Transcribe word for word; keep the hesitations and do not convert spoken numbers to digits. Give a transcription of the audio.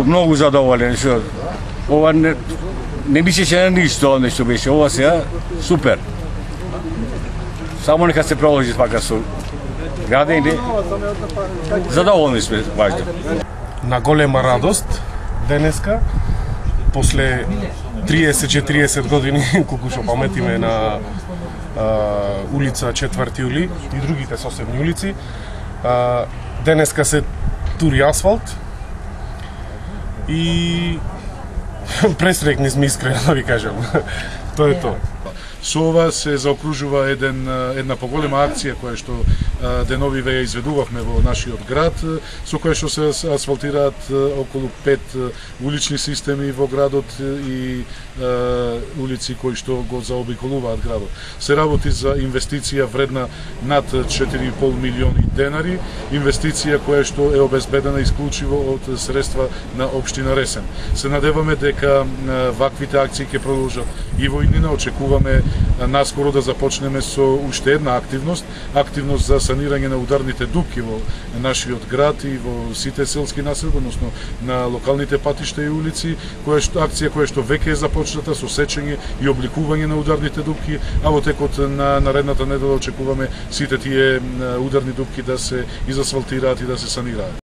многу задоволен што ова не не мислеше на ништо нешто беше, ова сега супер. Само нека се продолжи така со градење. Задоволни сме важно. На голема радост денеска после триесет четириесет години колку што паметиме на а, улица четврти јули и другите соседни улици, а, денеска се тури асфалт и пресрекни сме, искрено да ви кажам. Тоа е тоа. Со ова се заокружува еден, една поголема акција која што деновиве ја изведувавме во нашиот град, со која што се асфалтираат околу пет улични системи во градот и улици кои што го заобиколуваат градот. Се работи за инвестиција вредна над четири и пол милиони денари, инвестиција која што е обезбедена исклучиво од средства на општина Ресен. Се надеваме дека ваквите акции ќе продолжат и во иднина. Очекуваме наскоро да започнеме со уште една активност, активност за санирање на ударните дупки во нашиот град и во сите селски населби, односно на локалните патишта и улици, која што акција која што веќе е започната со сечење и обликување на ударните дупки, а во текот на наредната недела очекуваме сите тие ударни дупки да се изасфалтираат и да се санираат.